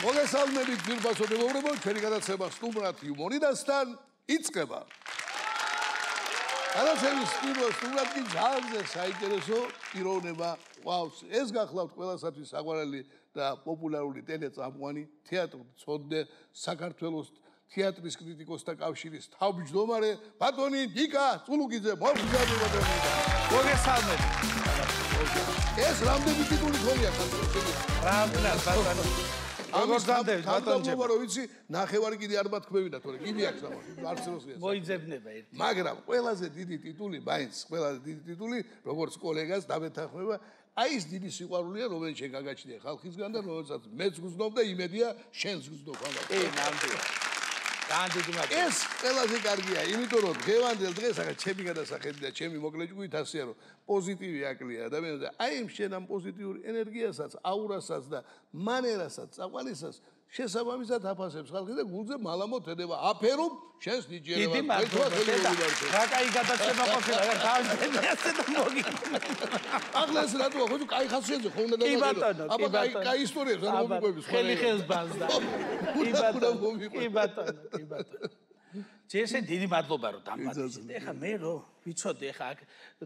მოგესალმებით ძვირფასო მეგობრებო, ჩვენი გადაცემა სტუმრად იუმორიდასთან იწყება. გადაცემის სტუმრად კი ძალიან საინტერესო პიროვნება ყავს. ეს გახლავთ ყველასათვის საყვარელი და პოპულარული ტელეწამყვანი, თეატრმცოდნე, საქართველოს თეატრის კრიტიკოსთა კავშირის თავმჯდომარე ბატონი ნიკა წულუკიძე. მოგესალმებით. ეს რამდენი ტიტული ხომია საქართველოს? რამდენად ბატონო? როგორ განდევით ბატონჯება? რომ ვიცი, ნახევარი კიდე არ მათქმევინა, თორე კიდე აქვს არც როსია. მოიძებნება ერთი. მაგრამ ყველაზე დიდი ტიტული, მაინც ყველაზე დიდი ტიტული, როგორც კოლეგას დამეთანხმება, აი ეს დიდი სიყვარულია, რომელიც შენ გაგაჩნია ხალხისგან და რომელსაც მეც გძნობ და იმედია შენს გძნობ ამას. ნამდვილად. ეს ყველაზე კარგია, იმიტომ რომ დღევანდელ დღეს ახლა ჩემი გადასახედი და ჩემი მოკლე ჭკუით ასეა რომ პოზიტივი აკლია ადამიანს და აი ამ შენ ამ პოზიტიური ენერგიასაც, აურასაც და მანერასაც, წაყვანისას შესაბამისად აფასებს ხალხი და გულზე მალამოთ ედება აფერობ შენს ნიჭიერებას. დიდი მადლობა. რა კაი გადაცემა ყოფილა, რა დავიწყე ასე და მოგიყვება. ახლა ეს რატოა, ხო კაი ხასიათზე ხო უნდა დაგაგებო. აბა კაი ისტორიებს არ მომიყვების ხო. ხელი ხელს ბანსდა. კი ბატონო. ჯერე დიდი მადლობა რომ დამბადეთ. ეხლა მე რომ ვიცოდი ეხლა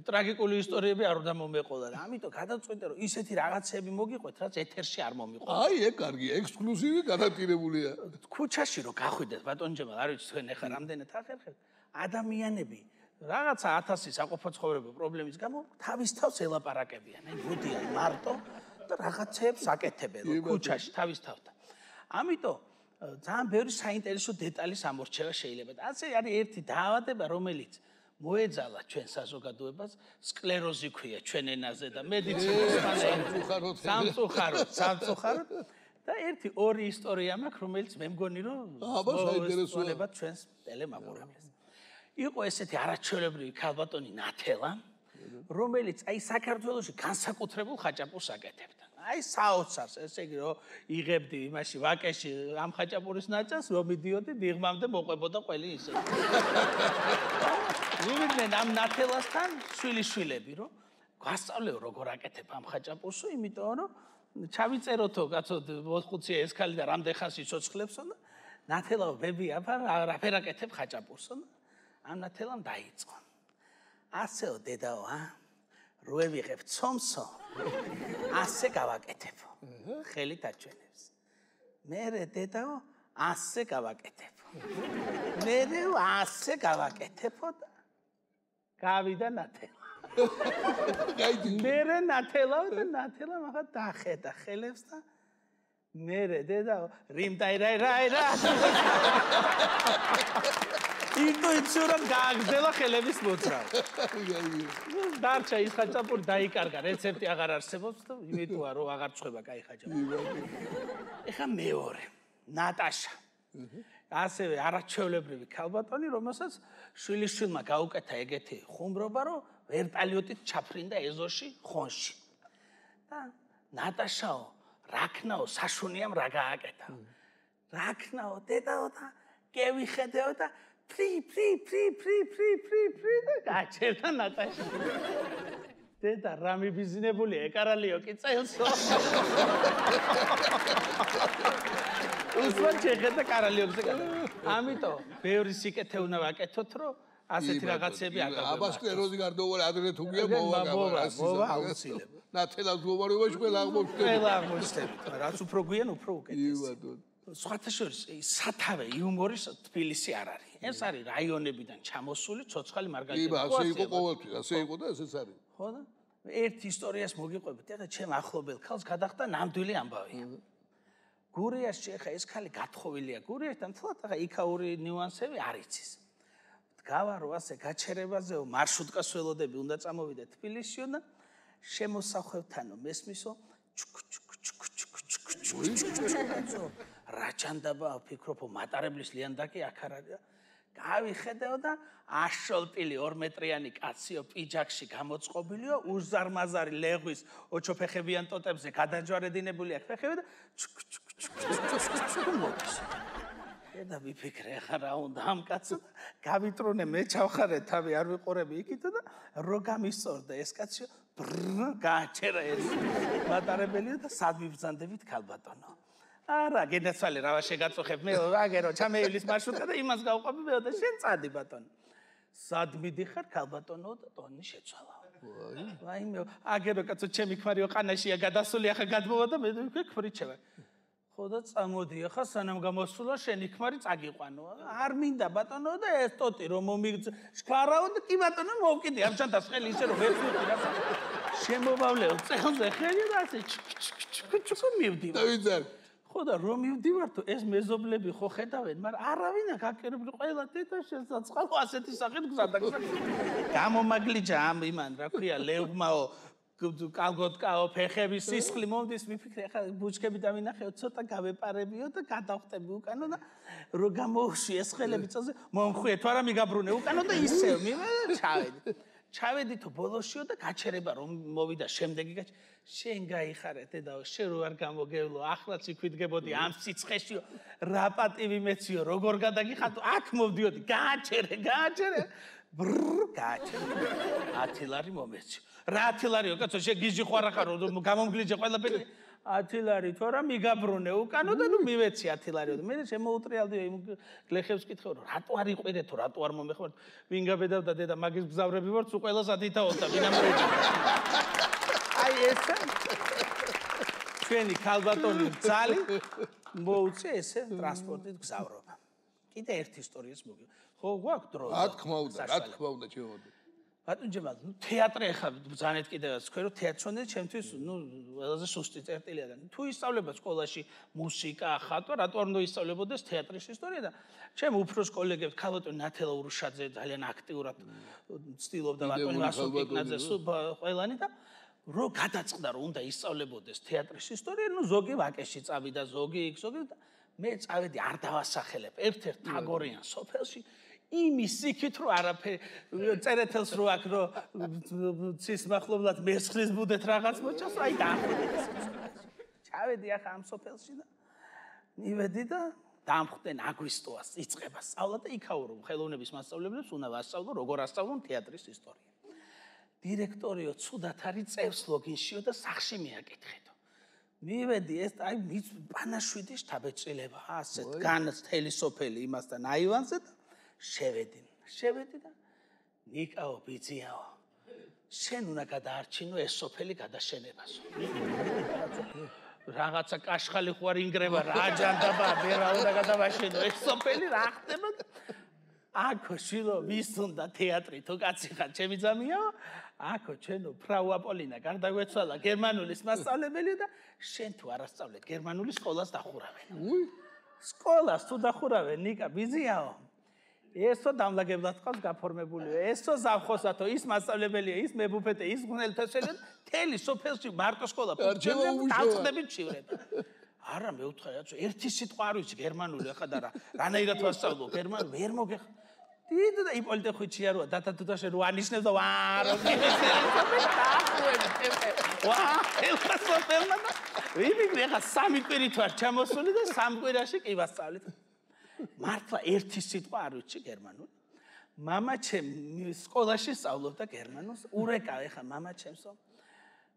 ტრაგიკული ისტორიები არ უნდა მომეყოლა და ამიტომ გადავწყვიტე რომ ისეთი რაღაცები მოგიყვეთ, რაც ეთერში არ მომიყვება. აი ეგ კარგია, ექსკლუზივი განაპირებულია. ქუჩაში რომ გახვიდეთ ბატონჯემა, არ ვიცი თქვენ ეხლა რამდენად ახერხებთ, ადამიანები რაღაცა 1000 საყოფაცხოვრებო პრობლემის გამო თავის თავს ელაპარაკებიან. აი მოდიან მარტო და რაღაცებს აკეთებენ ქუჩაში თავის თავთან. ამიტომ ძალიან ბევრი საინტერესო დეტალის ამორჩევა შეიძლება. ასე არის ერთი დაავადება, რომელიც მოეძალა ჩვენ საზოგადოებას, სკლეროზი ქვია ჩვენ ენაზე და მედიცინის სამწუხაროდ და ორი ისტორია მაქვს, რომელიც მე მგონი რომ საინტერესოა ჩვენს ტელემაყურებლებს. იყო ესეთი არაჩვეულებრივი ქალბატონი ნათელა, რომელიც აი საქართველოში განსაკუთრებულ ხაჭაპურს აკეთებდა. აი საოცარს, ესე იგი რომ იღებდი იმაში ვაკეში ამ ხაჭაპურის ნაჭას, რომ მიდიოდი დიღმამდე მოყვებოდა ყველი ისე. ვივიდნენ ამ ნათელასთან შვილიშვილები, რომ გასწავლეო როგორ აკეთებ ამ ხაჭაპურსო, იმიტომ რომ ჩავიწეროთო კაცო 4-5 ესქალი და რამდენ ხანს იცოცხლებსო და ნათელაო ბები რაფერ აკეთებ ხაჭაპურსო და ამ ნათელამ დაიწყო. ასეო დედაო, როე ვიღებ ცომსო, ასე გავაკეთებო. ხელით აჩვენებს. მერე დედაო, ასე გავაკეთებო. მერე ასე გავაკეთებო და გავიდა ნათელა. მერე ნათელაო და ნათელა მაგა დახედა ხელებს და მერე დედაო, რიმდაირაირაირა. ინტუიციურად გააგრძელა ხელების მოძრავ. დარჩა ის ხაჭაპური დაიკარგა, რეცეპტი აღარ არსებობს და იმიტოა რომ აღარ წვება კაი ხაჭაპური. ეხა მეორე, ნატაშა. ასევე არაჩვეულებრივი ქალბატონი, რომელსაც შვილიშვილმა გაუკეთა ეგეთი ხუმრობა, რომ ვერტალიოტით ჩაფრინდა ეზოში ხონში. და ნატაშაო, რაქნაო, საშუნიამ რა გააკეთა. რაქნაო, დედაო და გევიხედეო და ფრი და გაჩერდა ნატაშა. დედა რა მიბიზნებულია, ეკარალიო კი წელსო. უსვან შეხედა კარალიოზე გადა. ამიტომ ბევრი სიკეთე უნდა ვაკეთოთ, რომ ასეთი რაღაცები არ გავაკეთოთ. აბა სკლეროზი გარდაუვალე ადრე თუ გია მოვაგავა. აუცილებლად. ნათელას მოვარებაში ყველა აღმოჩნდება. ყველა აღმოჩნდება. რაც უფრო გვიან, უფრო უკეთესია. სხვათა შორის სათავე იუმორის თბილისი არ არის. ეს არის რაიონებიდან ჩამოსული ცოცხალი მარგალიტები. იბა, ასე იყო ყოველთვის, ასე იყო და ესეც არის. ხო და ერთ ისტორიას მოგიყვებით, ეხლა ჩემ ახლობელ ქალს გადახდა ნამდვილი ამბავი. გურიაში ეხლა ეს ქალი გათხოვილია გურიაშთან, თლათ ეხლა იქაური ნიუანსები არ იცის. გავარო ასე გაჩერებაზეო, მარშრუტკას ველოდები უნდა წამოვიდე თბილისში და შემოსახვევთანო მესმისო რაჭანდაბა ფიქრობ მატარებლის ლიანდაკი აქ არ არის. გავიხედეო და აშოლტილი 2 მეტრიანი კაციო პიჯაკში გამოწყობილიო, უზარმაზარი ლეღვის ოჩოფეხებიან ტოტებზე გადაჯვარედინებული აქ ფეხები და და ვიფიქრე ახლა რა უნდა ამ კაცო გავიტრონე მე ჩავხარე თავი არ ვიყურები იქით და რო გამისწორდა ეს კაცო გააჩერა ეს მატარებელია და სად ვიბრძანდებით ქალბატონო არა, გენაცვალე რა შეგაწუხებ მე აგერო ჩამეივლის მარშრუტკა და იმას გავყვები მე და შენ წადი ბატონო. სად მიდიხარ ქალბატონო და ტონი შეცვალა. ვაიმე, აგერო კაცო ჩემი ქმარიო ყანაშია გადასული ახლა გადმოვა და მე ვიქვრიჩევა. ხო და წამოდი ახლა სანამ გამოსულა შენი ქმარი წაგიყვანო. არ მინდა ბატონო და ეს ტოტი რომ მომიგზარავ და კი ბატონო მოვკიდე ამ ჩანთას ხელი ისე რომ ვეცვიდი რა. შემოვავლეო წელზე ხელი და ასე ჩუ მივდივარ. დავიძარ. ხო და რომ მივდივარ თუ ეს მეზობლები ხო ხედავენ, მაგრამ არავინ აქ აკერებდი ყველა თეთა შესაწყალო ასეთი სახით გზადაგზა. გამომაგლიჯა ამ იმან რა ქვია ლევმაო კალგოტკაო ფეხების სისხლი მომდის მიფიქრე ახლა ბუჩქები დავინახეო ცოტა გავეპარებიო და გადავხტები უკანო და რო გამოუშვი ეს ხელები წელზე მომხვიე თუ არა მიგაბრუნე უკანო და ისევ ჩავედი. ჩავედი თუ ბოლოშიო და გაჩერება რომ მოვიდა შემდეგი შენ გაიხარე დედაო შენ რო არ გამოგევლო ახლაც იქვიდგებოდი ამ სიცხეშიო რა პატივი მეციო როგორ გადაგიხატო აქ მოვდიოდი გააჩერე გააჩერე 10 ლარი მომეციო რა 10 ლარიო კაცო შენ გიჟი ხო არა ხარო გამომგლიჯე ყველაფერი 10 ლარი თუ არა მიგაბრუნე უკანო და ნუ მივეცი 10 ლარიო და მე შემოუტრიალდი იმ გლეხებს კითხე რომ რატო არ იყვირე თუ რატო არ მომეხმართ ვინ გაბედავდა დედა მაგის გზავრები ვარ თუ ყველას ადითაოთ და ვინ ამრეჭი აი ეს ჩვენი ქალბატონი ძალი მოუწე ესე ტრანსპორტით გზავრობა კიდე ერთი ისტორიას მოგი ხო გვაქვს დრო რა თქმა უნდა ჩემოდი ბატონ ჯემალ, თეატრი ახლა ბრძანეთ კიდევაც თქვენ რომ თეატრონი ჩემთვის ყველაზე სუსტი წერტილია და თუ ისწავლება სკოლაში მუსიკა, ხატვა, რატო არ უნდა ისწავლებოდეს თეატრის ისტორია და ჩემ უფროს კოლეგებს ქალბატონ ნათელა ურუშაძე ძალიან აქტიურად ცდილობდა ბატონი ვასოკიკნაძე ყველანი და რო გადაწყდა რომ უნდა ისწავლებოდეს თეატრის ისტორია, ნუ ზოგი ვაკეში წავიდა, ზოგი იქ, ზოგი და მე წავედი არ დავასახელებ ერთ-ერთ თაგორიან სოფელში იმის იქით რომ არაფერი წერეთელს რო აქ რო ცის მახლობლად მესხლის ბუდეთ რაღაც მოჭას აი დაახდეთ ჩავედი ახლა ამ სოფელში და მივედი და დამხვდნენ აგვისტოას იწყება სწავლა და იქაურო ხელოვნების მასწავლებლებს უნდა ვასწავლო როგორ ასწავლონ თეატრის ისტორია დირექტორიო ცუდად არის წევს ლოგინშიო და სახში მიაკითხეთო მივედი ეს აი პანაშვიდი შთაბეჭდილება ასეთ განაც თელი სოფელი იმასთან აივანზე და შევედი და ნიკაო ბიძიაო შენ უნდა გადაარჩინო ეს სოფელი გადაშენებასო რაღაცა კაშხალი ხო არ ინგრევა რა ჯანდაბა მე რა უნდა გადავაშენო ეს სოფელი რა ხდება აქო შილო ვის უნდა თეატრი თუ კაცი ხარ ჩემი ძამიაო აქო ჩვენო ფრაუ აპოლინა გარდაგვეცვალა გერმანულის მასწავლებელი და შენ თუ არ ასწავლეთ გერმანულის სკოლას დახურავენ სკოლას თუ დახურავენ ნიკა ბიძიაო ესო დამლაგებლად ყავს გაფორმებულიო ესო ზავხოსათო ის მასწავლებელია ის მებუფეტე ის ღუნელთესელი თელი სოფელში მარტო სკოლა დავწყდებით ჩივრება არა მე ვთხარი რაცო ერთი სიტყვა არ ვიცი გერმანული ახლა და რანაირად ვასწავლო გერმანული ვერ მოგეხ დიდი და იპოლიტე ხვიჩია როა დათა თუთაშე რო ანიშნებს და ვარო ვა ელხა სოფელმა ვიმიგრე ახლა სამი კვირით ვარ ჩამოსული და სამ კვირაში კი ვასწავლეთ მართლა ერთი სიტყვა არ ვიცი გერმანული. მამა ჩემი სკოლაში სწავლობდა გერმანულს. ურეკავ ეხა მამა ჩემსო.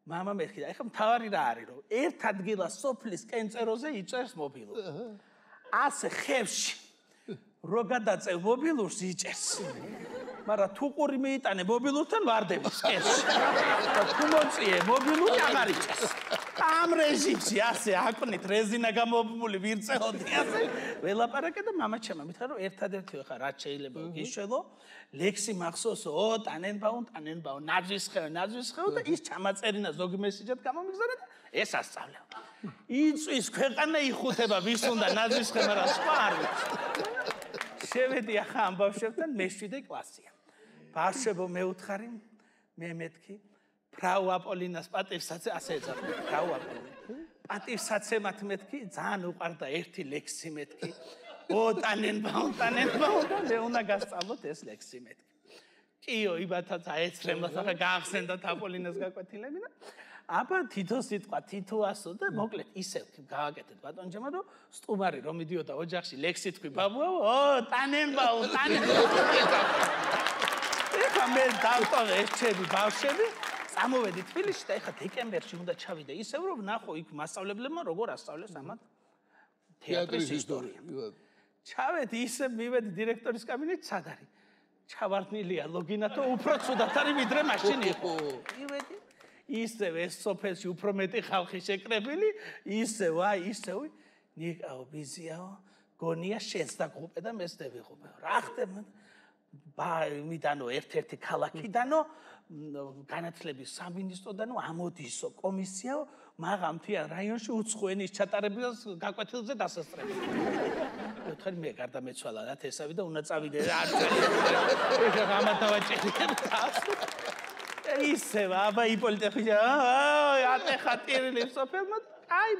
მამა მეთქიდა, ეხა მთავარი რა არის რომ ერთ ადგილას სოფლის კენწეროზე იჭერს მობილური. ასე ხევში რო გადაწევ მობილურს იჭერს. მაგრამ თუ ყური მიიტანე მობილურთან ვარდების კენში. და თუ მოწიე მობილური აღარ იჭერს. ამ რეჟიმში ასე აკვნით რეზინა გამომული ვირწეოდი ასე ველაპარაკე და მამა ჩემმა მითხრა რომ ერთადერთი ხა რაც შეიძლება გიშველო ლექსი მახსოვსო ტანენბაუმ ნაძვისხეო და ის ჩამაწერინა ზოგი მესიჯად გამომიგზავნა და ეს ასწავლე იწვის ქვეყანა იხუთება ვის უნდა ნაძვისხე მაგრამ სხვა არ ვიცი შევედი ახლა ამ ბავშვებთან მე-7 კლასია ბავშვებო მე-4 მე მეთქი ფრაუ აპოლინას პატივსაცე ასე ეძახა ფრაუ აპოლინა პატივსაცემად მეთქი ძალიან უყვარდა ერთი ლექსი მეთქი ტანენბაუმ და მე უნდა გასწავლოთ ეს ლექსი მეთქი კიო იბათაც აეცრემლას ახლა გაახსენდა აპოლინას გაკვეთილები და აბა თითო სიტყვა თითოასო და მოკლედ ისევ გავაკეთეთ ბატონჯემა რომ სტუმარი რომ მიდიოდა ოჯახში ლექსი თქვი ბაბუო ტანენბაუმ ეხა მე დავტოვე ეს ჩემი ბავშვები წამოვედი თბილისში და ეხა დეკემბერში უნდა ჩავიდე ისევ რომ ნახო იქ მასწავლებლებმა როგორ ასწავლეს ამათ თეატრის ისტორია. ჩავედი ისე მივედი დირექტორის კაბინეტში, სად არის? ჩავარდნილია ლოგინათო უფრო ცუდად არის ვიდრე მაშინ იყო. მივედი ისევ ეს სოფელში უფრო მეტი ხალხი შეკრებილი, ისევ ნიკაო ბიზიაო, გონია შენს დაგღუპე და მეც დავიღუპე. რა ხდება? მიდანო ერთ-ერთი ქალაქიდანო განათლების სამინისტროდანო ამოდისო კომისიაო მაღალმთიან რაიონში უცხოენის ჩატარებას გაკვეთილზე დასასწრებს. ხარ მე გარდამეცვალა რა თესავი და უნდა წავიდე რა არ ეხა გამატავაჭერია ისე აბა იპოლიტეხია ატეხა ტირილი სოფელმა აი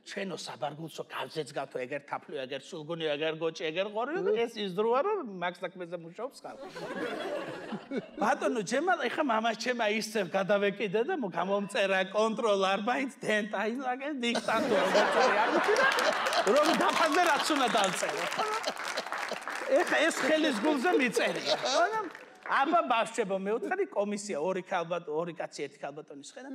ჩვენო საბარგულსო გავზეც გავთო ეგერ თაფლი ეგერ სულგუნი ეგერ გოჭი ეგერ ყორიო და ეს ის დროა რომ მაგ საქმეზე მუშაობს ხალხი ბატონო ჯემალ ეხა მამას ჩემა ისე გადავეკიდე და გამომწერა კონტროლ არბაინც დენტაინ აგენ დიქტატორი არ მითხრა რომ დაფაზე რაც უნდა დავწერო ეხა ეს ხელის გულზე მიწერია აბა ბავშვებო მეუთხარი კომისია ორი კაცი ერთი ქალბატონის ხედა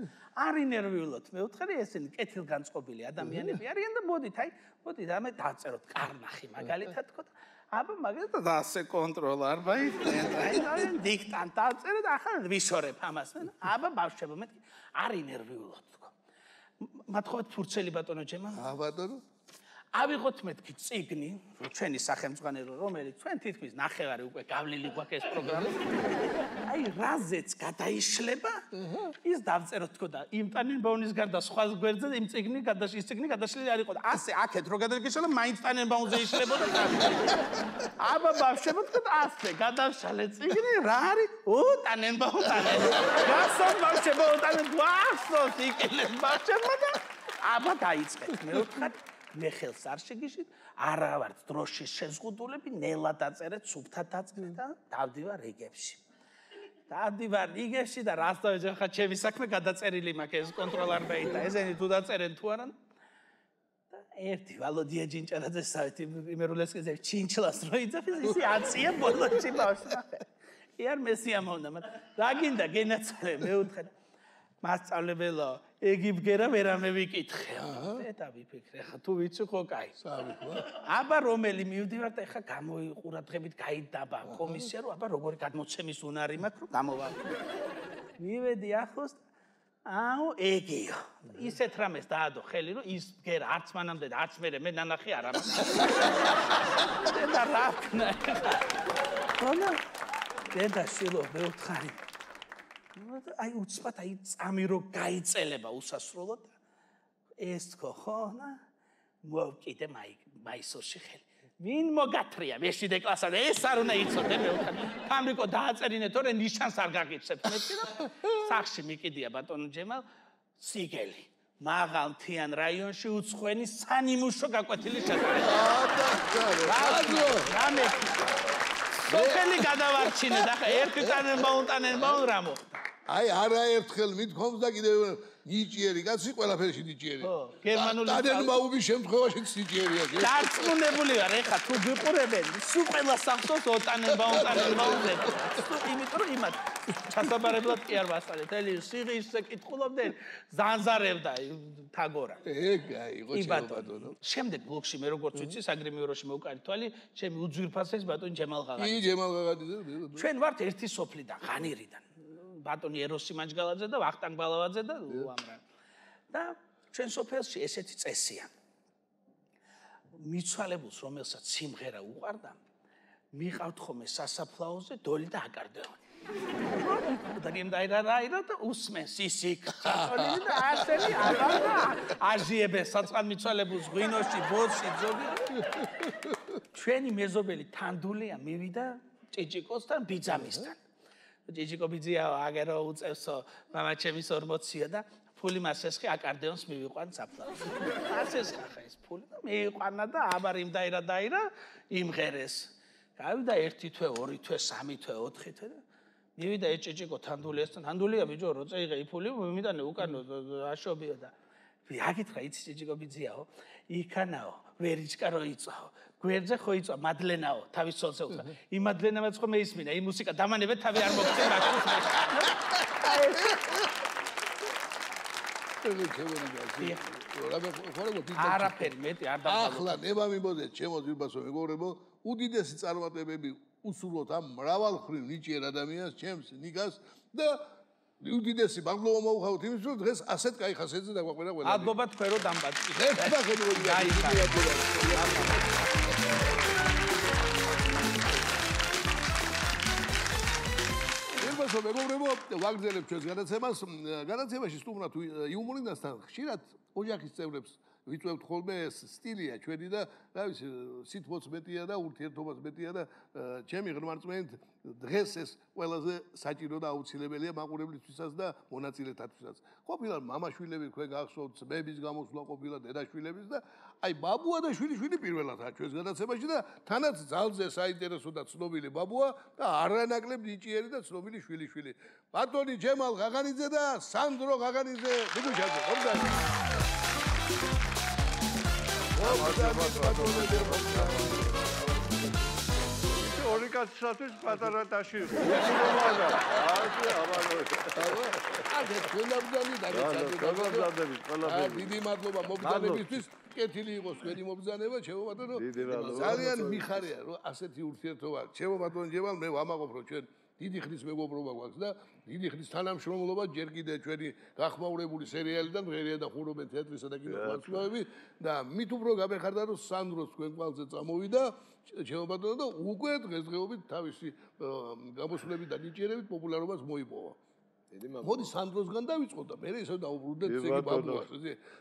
არ ინერვიულოთ მეუთხარი ესენი კეთილგანწყობილი ადამიანები არიან და მოდით ამე დავწეროთ კარნახი მაგალითად თქო აბა მაგალითად ასე კონტროლ არბაინც დენტაინ დიქტანტ დავწერე და ახლა ვიშორებ ამას აბა ბავშვებო მე არ ინერვიულოთ თქო მათხოვეთ ფურცელი ბატონო ჯემა ბატონო ავიღოთ მეთქი წიგნი ჩვენი სახელმძღვანელო რომელიც ჩვენ თითქმის ნახევარი უკვე გავლილი გვაქვს ეს პროგრამა აი რაზეც გადაიშლება ის დავწეროთ თქო და იმ ტანენბაუნის გარდა სხვა გვერდზე იმ წიგნი გადაშლილი არ იყო და ასე აქეთ რო გადაგიშალა მაინც ტანენბაუნზე იშლებოდა აბა ბავშვებო თქო ასე გადაშალე წიგნი რა არის ტანენბაუნი გასულ ბავშვებო ტანენბაუნს იკილეს ბავშვებმა და აბა დაიწყეთ მე ვთქვი მე ხელს არ შეგიშით, არა ვარ დროშის შეზღუდულები, ნელა დაწერეთ, სუფთა დაწერეთ და დავდივარ რიგებში. დავდივარ რიგებში და რას დავეძახ ხა ჩემი საქმე გადაწერილი მაქვს ეს კონტროლარბეი და ესენი თუ დაწერენ თუ არა. და ერთი ვალოდია ჯინჭარაძე საერთი იმერულესკეზე ჩინჩლას რო იძახის ისი აცია ბოლოში ბავშვი. იარ მესიამოვნა, რა გინდა გენაცალე მე ვთქვა. მასწავლებელო ეგი ბგერა ვერამე ვიკითხე. და ვიფიქრე, ხა თუ ვიცი ხო კაი. აბა რომელი მივდივარ და ხა გამოიყურადღებით გაიდაბა კომისია რომ აბა როგორი გადმოცემის უნარი მაქვს რომ გამოვალ. მივედი ახლოს აუ ეგიო. ისეთ რამეს დაადო ხელი რომ ის ბგერა არც მანამდე და არც მე ნანახი არ ამას. და რა ქნა. ხონა და შილო მე ვთხარი. აი უცბად აი წამი რო გაიწელება უსასრულოდ ეს თქო ხო და მოვკიდე მაისურში ხელი ვინ მოგათრია მეშვიდე კლასამდე ეს არ უნდა იცოდე მე ვთქვი თამრიკო დააწერინე თორე ნიშანს არ გაგიცებთ მეთქი და სახში მიკიდია ბატონო ჯემალ სიგელი მაღალმთიან რაიონში უცხოენის სანიმუშო გაკვეთილი ჩატარება რამე სოფელი გადავარჩინე და ხა ერთი ტანენბაუნ რა მოხდა აი არაერთხელ მithkoms და კიდევ ნიჭიერი კაცი ყველაფერში ნიჭიერია. ხო, გერმანული ტანენბაუმის შემთხვევაშიც ნიჭიერია. დარწმუნებული ვარ, ეხა თუ გიყურებენ, სულ ყველა სახსოვს ტანენბაუმზე. იმიტომ რომ იმათ ჩასაბარებლად კი არ ვასწავლეთ. ელი სიღის კითხულობდნენ, ზანზარებდა თაგორა. ეგაი, იყო ბატონო. შემდეგ ბლოკში მე როგორც ვიცი, საგრიმიოროში მოვკარი თვალი, ჩემი უძვირფასეს ბატონი ჯემალ ღაღაძე. კი, ჯემალ ღაღაძე. ჩვენ ვართ ერთი სოფლიდან, ღანირიდან. ბატონი ეროსი მანჯგალაძე და ვახტანგ ბალავაძე და უამრავი. და ჩვენ სოფელში ესეთი წესია. მიცვალებულს რომელსაც სიმღერა უყვარდა, მიყავთ ხოლმე სასაფლაოზე დოლი და აკარდეონი. და გემდაირა და უსმენს ისიქ. წოლილი და ასენი აბა აჟიებენ საწყალმიცვალებულს ღვინოში, ბოთში, ძოგი. ჩვენი მეზობელი თანდულია მივიდა ჭიჭიკოსთან ბიძამისთან. ჭიჭიკო ბიძია აგერო უწევსო მამა ჩემის 40-ია და ფული მას ესხი აკარდეონს მივიყვან საფლავს. ასეს ხა ეს ფული და მიიყვანა და აბარ იმ დაირა იმღერეს. გავიდა 1 თვე, 2 თვე, 3 თვე, 4 თვე და მივიდა ჭიჭიკო თანდულიასთან. თანდულია ბიჭო რო წეიღე იფული მიმიტანე უკანო აშობია და ვიაკითხა იცი ჭიჭიკო ბიძიაო იქანაო ვერიჭკა რო იწაო გვერდზე ხო იწვა მადლენაო თავის ცოლზე უთხრა იმ მადლენამაც ხო მეისმინა იმ მუსიკა დამანებე თავი არ მოგწე მაგას არაფერი მეტი არ დავგალო. ახლა ნება მიმოდეთ ჩემო ძირბასო მეგობრებო, უდიდესი წარმატებები უსურვოთ ამ მრავალმხრივ ნიჭიერ ადამიანს, ჩემს ნიკას და უდიდესი მადლობა მოუხავთ იმისთვის, რომ დღეს ასეთ კაი ხასიათზე დაგვაყვერა ყველა. მადლობა თქვენ რომ დამბაჭდით. ძირბასო მეგობრებო, ვაგრძელებ ჩვენს განაცემას. განაცემაში სტუმრად იუმორინასთან ხშირად ოჯახის წევრებს ვიწევთ ხოლმე ეს სტილია ჩვენი და რა ვიცი სითბოც მეტია და ურთიერთობაც მეტია და ჩემი ღრმა რწმენით დღეს ეს ყველაზე საჭირო და აუცილებელია მაყურებლისთვისაც და მონაწილეთათვისაც. ყოფილა მამაშვილები თქვენ გახსოვთ, ბების გამოსვლა ყოფილა დედაშვილების და აი ბაბუა და შვილიშვილი პირველადაა ჩვენს განაცემაში და თანაც ძალზე საინტერესო და ცნობილი ბაბუა და არანაკლებ ნიჭიერი და ცნობილი შვილიშვილი. ბატონი ჯემალ ღაღანიძე და სანდრო ღაღანიძე ბიგუშაძე. ორი კაცისათვის პატარა ტაში იყო. დიდი მადლობა მობრძანებისთვის. კეთილი იყოს თქვენი მობრძანება, ჩემო ბატონო. ძალიან მიხარია რომ ასეთი ურთიერთობა. ჩემო ბატონო ჯემალ, მე ვამაყობ რომ ჩვენ დიდი ხნის მეგობრობა გვაქვს და დიდი ხნის თანამშრომლობა ჯერ კიდე ჩვენი გახმაურებული სერიალიდან ღერია და ხურობენ თეატრისა და კინოს მასწავლებლები და მით უფრო გამეხარდა რომ სანდროს თქვენ კვალზე წამოვიდა ჩემო ბატონო და უკვე დღესდღეობით თავისი გამოსვლებით და ნიჭიერებით პოპულარობას მოიპოვა. მოდი სანდროსგან დავიწყოთ და მე ისევ დავუბრუნდეთ ზეგი ბაბუას.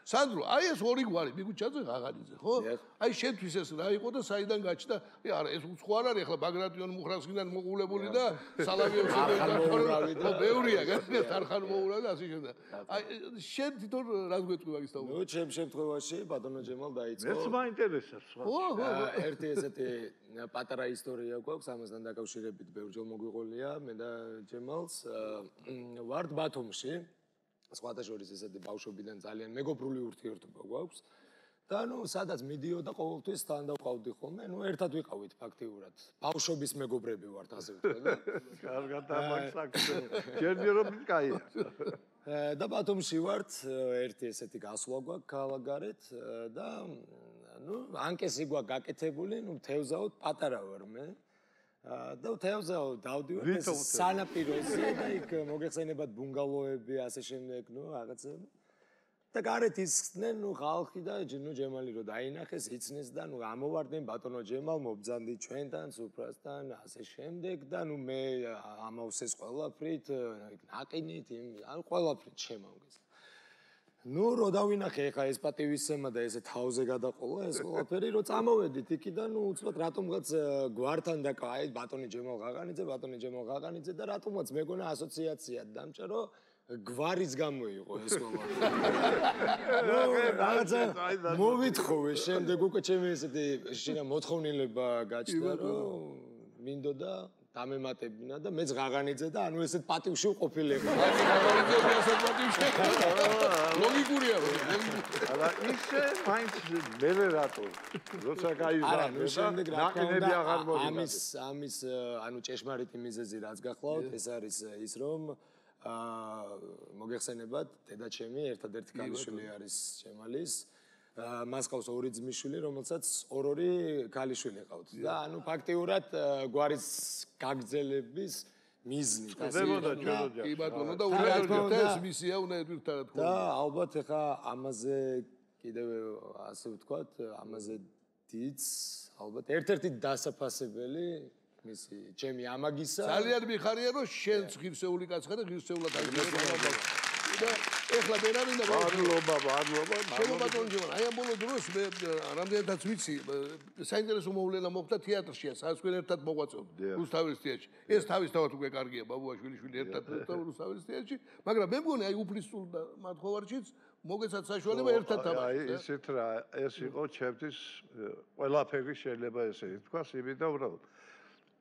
სანდრო, აი ეს ორი გვარი, მიგუჩაძე ღაღანიძე, ხო? აი შენთვის ეს რა იყო და საიდან გაჩნდა? არა, ეს უცხო არ არის, ახლა ბაგრატიონ მუხრანსკიდან მოყოლებული და სალავიევს და ბევრია, გასაგებია, თარხან მოულა და ასე შემდეგ. აი შენ თვითონ რას გვეტყვი მაგის თაობა? ნუ ჩემ შემთხვევაში ბატონო ჯემალ დაიწყო. მეც მაინტერესებს სხვა. ერთი ესეთი პატარა ისტორია გვაქვს, ამასთან დაკავშირებით ბევრჯერ მოგვიყოლია მე და ჯემალს. ვართ ბათუმში, სხვათა შორის ესეთი ბავშვობიდან ძალიან მეგობრული ურთიერთობა გვაქვს. და ნუ სადაც მიდიოდა ყოველთვის თან დავყავდი ხოლმე, ნუ ერთად ვიყავით ფაქტიურად. ბავშვობის მეგობრები ვართ ასე ვთქვა. კარგად ამაქსაკს. ჯერჯერობით კაია. და ბათუმში ვართ, ერთი ესეთი გასვლა გვაქვს ქალაქგარეთ და ნუ ანკესი გვაქვს გაკეთებული, ნუ თევზაოდ პატარა ვარ მე. და თევზაო დავდივარ ეს სანაპიროზე და იქ მოგეხსენებათ ბუნგალოები ასე შემდეგ, ნუ რაღაცები. და გარეთ ისხდნენ, ნუ ხალხი და ნუ ჯემალი რო დაინახეს, იცნეს და ნუ ამოვარდნენ ბატონო ჯემალ მობძანდი ჩვენთან, სუფრასთან, ასე შემდეგ და ნუ მე ამავსეს ყველაფრით, ნაყინით, ან ყველაფრით შემავგეს. ნუ რო დავინახე ხა ეს პატივისცემა და ესე თავზე გადაყოლა ეს ყველაფერი, რო წამოვედით იქიდან, ნუ უცბად რატომღაც გვართან და აი ბატონი ჯემალ ღაღანიძე და რატომღაც მეგონა ასოციაციად დამჭა, რომ გვარის გამო იყო ეს ყველაფერი. რაღაცა მოვითხოვე შემდეგ უკვე ჩემი ესეთი შინა მოთხოვნილება გაჩნდა, რომ მინდოდა დამემატებინა და მეც ღაღანიძე და ანუ ესეთ პატივში ვყოფილიყო. ლოგიკურია რომ. არა, ისე მაინც მერე რატო? როცა გაიზარდა და ნაკინები აღარ მოვიდა. ამის ანუ ჭეშმარიტი მიზეზი რაც გახლავთ, ეს არის ის რომ მოგეხსენებათ, დედაჩემი ერთადერთი ქალიშვილი არის ჯემალის. მას ყავს ორი ძმისშვილი, რომელსაც ორ-ორი ქალიშვილი ყავთ. და ანუ ფაქტიურად გვარის გაგრძელების მიზნით ასე იყო. კი ბატონო და უნდა ეს მისია უნდა ერთად თქვა. და ალბათ ეხა ამაზე კიდევ ასე ვთქვათ, ამაზე დიდს ალბათ ერთ-ერთი დასაფასებელი მისი ჩემი ამაგისა. ძალიან მიხარია რომ შენ ღირსეული კაცხა და ღირსეულად აგზავნა. და ეხლა ბერამინდა მადლობა. ჩემო ბატონო ჯემალ, აი ამ ბოლო დროს მე რამდენადაც ვიცი, საინტერესო მოვლენა მოხდა თეატრშია, სადაც თქვენ ერთად მოღვაწეობთ რუსთაველის თეატრში. ეს თავისთავად უკვე კარგია, ბაბუაშვილი ერთად რუსთაველის თეატრში, მაგრამ მე მგონი აი უფლისწულ და მათხოვარშიც მოგეცათ საშუალება ერთად თამაშოთ. აი ისეთ რა ეს იყო ჩემთვის ყველაფერი შეიძლება ესე ითქვას, იმიტომ რომ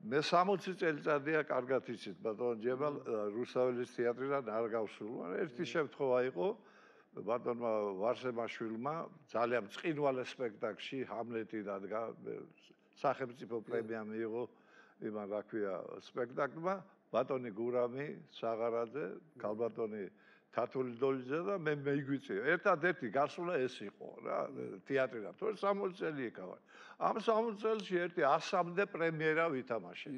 მე 60 წელიწადია კარგად იცით ბატონ ჯემალ რუსთაველის თეატრიდან არ გავსულვარ. ერთი შემთხვევა იყო ბატონმა ვარსემაშვილმა ძალიან წინვალე სპექტაკლში ჰამლეტი დადგა სახელმწიფო პრემია მიიღო იმან რა ქვია სპექტაკლმა ბატონი გურამი საღარაძე, ქალბატონი თათული დოლიძე და მე მეიგვიწია. ერთადერთი გასვლა ეს იყო რა თეატრიდან. თორე 60 წელი ეკავა. ამ 60 წელში ერთი 100-მდე პრემიერა ვითამაშე.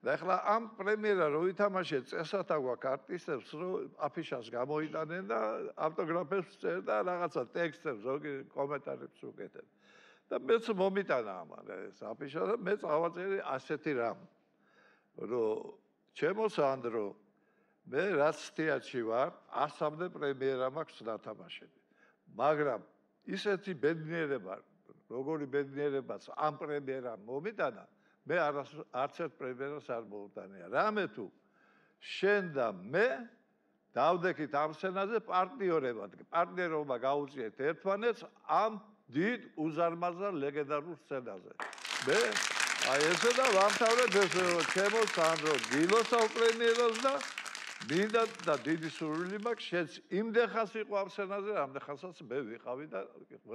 და ეხლა ამ პრემიერა რო ვითამაშე, წესათა გვაქვს არტისტებს, რომ აფიშას გამოიტანენ და ავტოგრაფებს წერდა და რაღაცა ტექსტებს, ზოგი კომენტარებს უკეთებ. და მეც მომიტანა ამან ეს აფიშა და მე წავაწერი ასეთი რამ. რომ ჩემო სანდრო მე რაც თეატრში ვარ 100-მდე პრემიერა მაქვს დათამაშები მაგრამ ისეთი ბედნიერება როგორი ბედნიერებაც ამ პრემიერამ მომიტანა მე არც ერთ პრემიერას არ მოვუტანია რამე თუ შენ და მე დავდექით ამ სცენაზე პარტნიორობა გაუწიეთ ერთმანეთს ამ დიდ უზარმაზარ ლეგენდარულ სცენაზე მე აი ესე და ვამთავრებ ეს ჩემო სანდრო დილოსავ პრემიერას და მინდა და დიდი სურვილი მაქვს შენც იმდეხას იყო ამ სცენაზე რამდენხანსაც მე ვიყავი და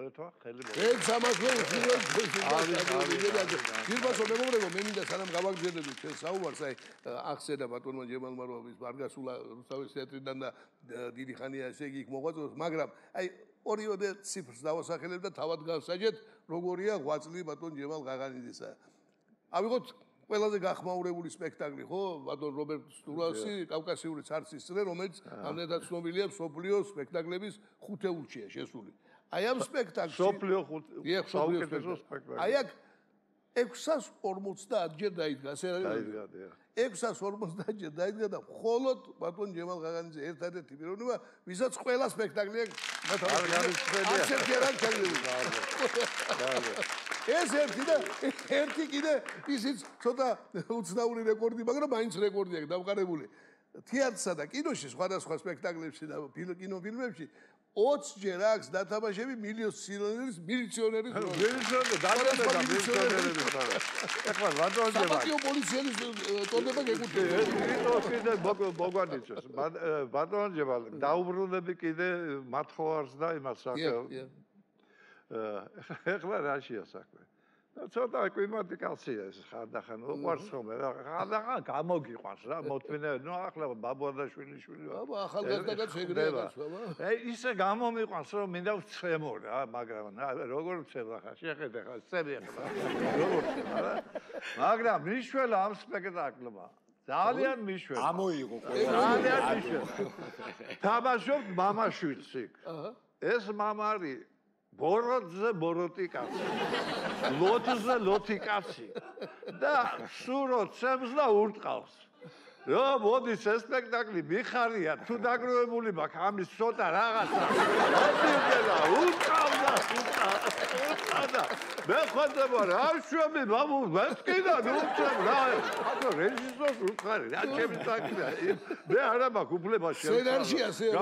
ერთმა ხელი მოვიდა ეს სამასლო გირბასო მეგობრებო მე მინდა სანამ გავაგზავნებთ ჩვენ საუბარს აი ახსენა ბატონმა ჯემალმა რომ ის მარგასულა რუსთავის თეატრიდან და დიდი ხანია ესე იგი იქ მოღვაწეობს მაგრამ აი ორიოდე ციფრს დავასახელებ და თავად გავსაჯეთ როგორია ღვაწლი ბატონ ჯემალ ღაღანიძისა ავიღოთ ყველაზე გახმაურებული სპექტაკლი ხო ბატონ რობერტ სტურასი კავკასიური ცარცის წრე რომელიც ამდენად ცნობილია მსოფლიოს სპექტაკლების ხუთეულშია შესული აი ამ სპექტაკლში მსოფლიო საუკეთესო სპექტაკლი აი აქ 650 ჯერ დაიდგა ასე დაიდგა 650 ჯერ დაიდგა და მხოლოდ ბატონ ჯემალ ღაღანიძე ერთადერთი პიროვნება ვისაც ყველა სპექტაკლი ეს ერთი და ერთი კიდე ისიც ცოტა უცნაური რეკორდი, მაგრამ მაინც რეკორდი აქვს დამყარებული. თეატრსა და კინოში სხვადასხვა სპექტაკლებში და კინოფილმებში 20 ჯერ აქვს დათამაშები მილიციონერის ეხლა ბატონჯე საპატიო პოლიციის ტონდება გეკუთვნება. კიდე მოგვანიცოს ბატონჯე დაუბრუნდები კიდე მათხოვარს და იმას საკ ეხლა რაშია საქმე და ცოტა კლიმატიკაცია ეს ხანდახან უყვარს ხოლმე რა ხანდახან გამოგიყვანს რა მოთმინე ნუ ახლა ბაბუადაშვილი აბა ახალგაზრდა შეგრევა ისე გამომიყვანს რომ მინდა ვცემო რა მაგრამ როგორ ვცემ ახლა შეხედე ხა წები ახლა როგორ რა მაგრამ მიშველა ამ სპექტაკლმა ძალიან მიშველა ამოიღო ძალიან მიშველა თამაშობ მამაშვილს იქ ეს მამარი ბოროტზე ბოროტი კაცი ლოთზე ლოთი კაცი და სურო ცემს და ურტყავს რა მოდის ეს სპექტაკლი მიხარია თუ დაგროვებული მაქვს ამის ცოტა რაღაცა მოდილა ურტყავდა მე ხოდება რა შვები მამუ ვესკიდა ნუცემ რა აბა რეჟისორს ურტყარი რა ჩემი საქმეა მე არა მაქვს უფლება სცენარში ასე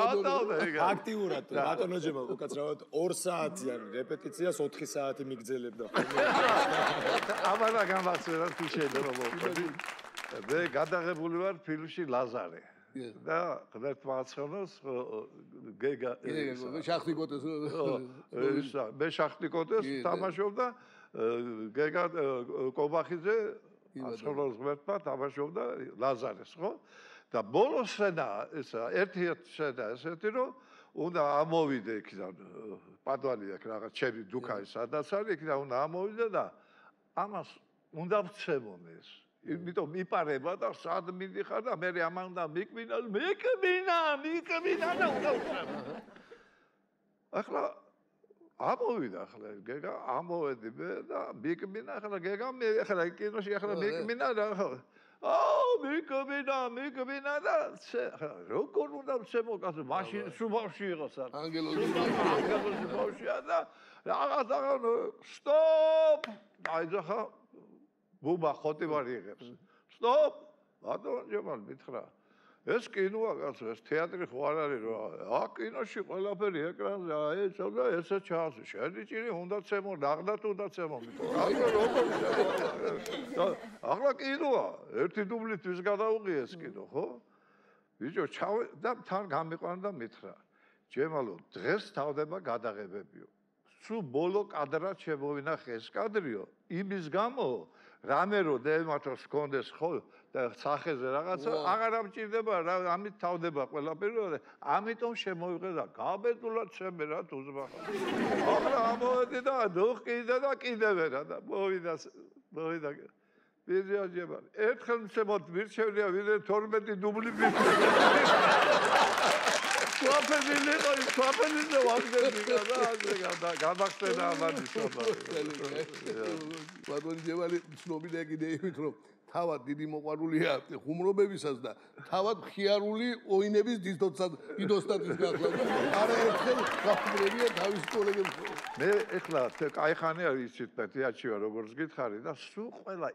აქტიურად ბატონო ჯემალ უკაცრავად 2 საათიან რეპეტიციას 4 საათი მიგძელებდა აბა გამახსენე თუ შეიძლება მოყვები მე გადაღებული ვარ ფილმში ლაზარე და ღმერთმა აცხენოს გეგა შახტიკოტეს მე შახტიკოტეს თამაშობდა გეგა კობახიძე აცხენოს ღმერთმა თამაშობდა ლაზარეს ხო და ბოლო სცენა ესა ერთი სცენა ესეთი რომ უნდა ამოვიდე იქიდან პადვალი აქ რაღაც ჩემი დუქანი სადაც არის იქიდან უნდა ამოვიდე და ამას უნდა ვცემონ ეს იმიტომ მიპარება და სად მიდიხარ და მე ამან უნდა მიკმინა და უნდა ვცემო ახლა ამოვიდა ახლა გეგა ამოვედი მე და მიკმინა ახლა გეგა მე ახლა კინოში ახლა მიკმინა და მიკმინა და როგორ უნდა ვცემო კაცო მაშინ სუბავში იყოს ანგელოზი ბავშვია და რაღაცა სტოპ აიძახა ბუბა ხოტივარი იღებს. სტოპ! ბატონ ჯემალ მითხრა. ეს კინოა კაცო, ეს თეატრი ხო არ არის რა. კინოში ყველაფერი ეკრანზე, ეს და ესე ჩანს. შენი ჭირი უნდა ცემო, ნაღდათ უნდა ცემო. ახლა კინოა, ერთი დუბლით ვის გადაუღია ეს კინო, ხო? ბიჭო, ჩავე და თან გამიყვანა და მითხრა. ჯემალო, დღეს თავდება გადაღებებიო. სულ ბოლო კადრად შემოვინახე ეს კადრიო, იმის გამო რამე რო დემათოს კონდეს ხო და სახეზე რაღაცა აღარ ამჭირდება რა ამით თავდება ყველაფერი ამიტომ შემოვიღე და გაბედულად შემე რა თუზმა ახლა ამოვედი და დუხკიდა და კიდევ რა და მოვიდა ვიზიაჯება ერთხელ შემოთ მირჩევნია ვიდრე 12 დუბლი სვაფენილი ყოი სვაფენილი ვაგდები და გამახსენა ამანი სოფა ბატონი ჯევალი ცნობილია კიდე იმით რომ თავად დიდი მოყვარულია ხუმრობებისას და თავად მხიარული ოინების დიდოსტატის გახლა არა ერთხელ გახმრებია თავის კოლეგებს მე ეხლა კაიხანი არის იცით პეტრიაჩია როგორც გითხარი და სულ ყველა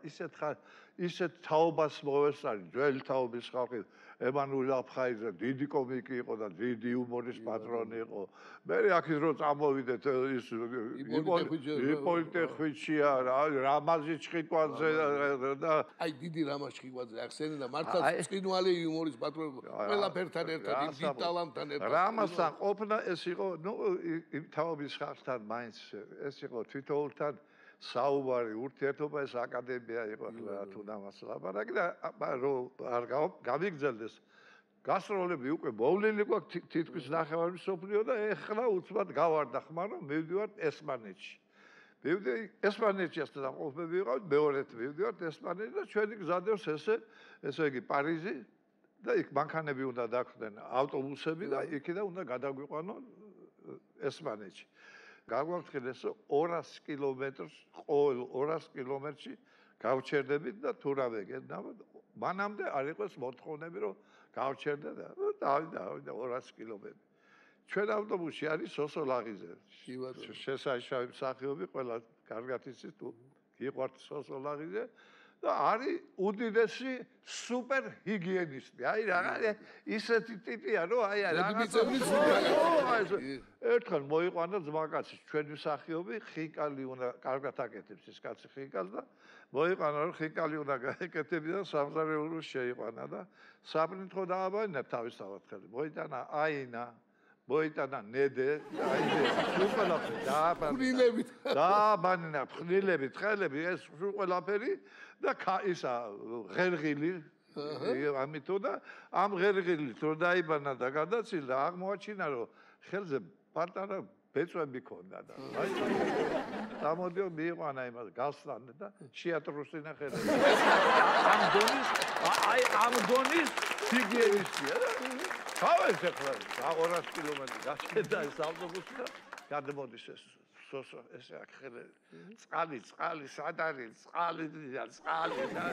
ისეთ თაობას მოვესწარი ძველი თაობის ხალხი ემანუელ აფხაიძე დიდი კომიკი იყო და დიდი იუმორის პატრონი იყო მე აქეთ რო წამოვიდეთ ის იპოლიტე ხვიჩია რამაზი ჩხიკვაძე და აი დიდი რამაზ ჩხიკვაძე ახსენე და მართლა წინვალი იუმორის პატრონი ყველაფერთან ერთად იმ დიდ ტალანტთან ერთად რამაზთან ყოფნა ეს იყო ნუ იმ თაობის ხალხთან მაინც ეს იყო თვითოულთან საუბარი ურთიერთობა ეს აკადემია იყო რა თუ დამას ლაპარაკი და არ გამიგრძელდეს გასტროლები უკვე მოვლილი გვაქვს თითქმის ნახევარი სოფლიო და ეხლა უცბად გავარდა ხმა რომ მივდივართ ესპანეთში მივდივარ ესპანეთში და ყოფები ვიყავთ მეორედ მივდივართ ესპანეთში და ჩვენი გზადევს ესე იგი პარიზი და იქ მანქანები უნდა დახვდნენ ავტობუსები და იქიდან უნდა გადაგვიყვანონ ესპანეთში გაგვაფრთხილეს 200 კილომეტრს ყოველ 200 კილომეტრში გავჩერდებით და თუ რა ვეგებდა მანამდე არ იყოს მოთხოვნები რომ გავჩერდა და დავიდა 200 კილომეტრი ჩვენ ავტობუსში არის სოსოლაღიზე შესანიშნავი მსახიობი ყველა კარგად იცით თუ გიყვართ სოსოლაღიზე და არის უდიდესი სუპერ ჰიგიენისტი. აი რა ისეთი ტიპია რომ აი ერთხელ მოიყვანა ძმაკაცი ჩვენი მსახიობი ხიკალი უნდა კარგად აკეთებს ეს კაცი ხიკალს და მოიყვანა რომ ხიკალი უნდა გაეკეთებინა სამზარეულოს შეიყვანა და საპრინტ ხო დააბანა თავისთავად ხელი მოიტანა აინა მოიტანა ნედე აი ყველაფერი დააბანა ფხნილებით ხელები ეს ყველაფერი და ისა ღერღილი ამითო და ამ ღერღილით რო დაიბანა და გადაცილდა აღმოაჩინა რომ ხელზე პატარა ბეწვები ქონდა და აი დამოდიო მიიყვანა იმას გასვლან და შეატრუსინა ხელები ამ დონის ჰიგიენისტია თავის ახლა 200 კილომეტრი გასცედა ეს ავტობუსი და გადმოდის ეს სოსო ეს ახელი წყალი სად არის წყალი და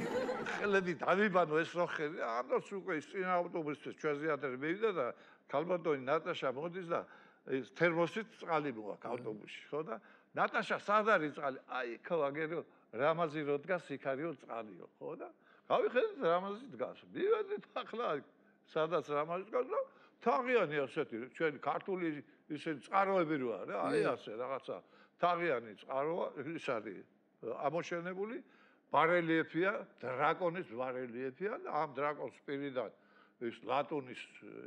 ხელები დავიბანო ეს რო ხელი ამას უკვე ის წინა ავტობუსის ჩვენზე ადრე მივიდა და ქალბატონი ნატაშა მოდის და ეს თერმოსით წყალი მოაქვს ავტობუსში ხო და ნატაშა სად არის წყალი აი ხო აგერო რამაზი რო დგას იქ არისო წყალიო ხო და გავიხედეთ რამაზი დგას მივედით ახლა სადაც რამაზი დგას და თაღიანი ასეთი ჩვენი ქართული ისე წყაროები რო არა აი ასე რაღაცა თაღიანი წყაროა ის არის ამოშენებული ბარელიეფია დრაკონის ბარელიეფია და ამ დრაკონს პირიდან ის ლატუნის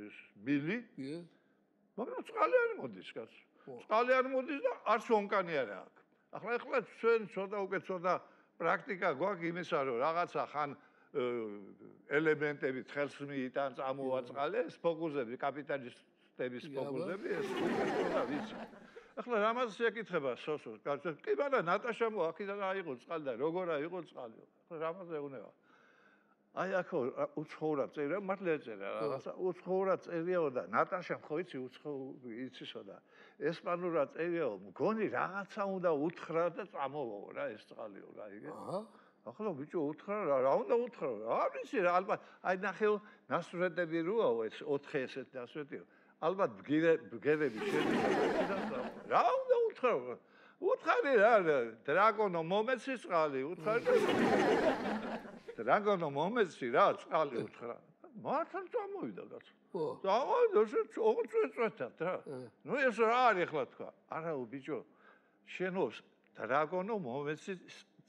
ის ბილი მაგრამ წყალი არ მოდის კაც წყალი არ მოდის და არც ონკანი არ აქვს ახლა ჩვენ ცოტა უკვე ცოტა პრაქტიკა გვაქვს იმისა რომ რაღაცა ხან ელემენტები ხელს მიიტან წამოვაწყალე ეს ფოკუსები კაპიტალისტების ფოკუსები ეს უკვე ვიცი ახლა რამაზს ეკითხება სოსოს კაცებს კი მაგრამ ნატაშა აქედან აიღო წყალი და როგორ აიღო წყალი ახლა რამაზზე უნება აი ახო უცხოურად წერია მართლა ეწერა რაღაცა უცხოურად წერიაო და ნატაშა ხო იცი იცისო და ესპანურად წერიაო მგონი რაღაცა უნდა უთხრა და წამოვაო რა ეს წყალიო რა იგე ახლა ბიჭო უთხრა რა უნდა უთხრა არ ვიცი რა ალბათ აი ნახეო ნასვრეტები როაო ეს 4 ესეთ ნასვრეტიო ალბათ ბგერები შედის რა უნდა უთხრა უთხარი რა დრაკონო მომეცი წყალი უთხარი დრაკონო მომეცი რა წყალი უთხრა მართლა წამოვიდა კაცო წამოვიდა ოღონდ რა ნუ ეს რა არის ახლა თქვა არაო ბიჭო შენო დრაკონო მომეცი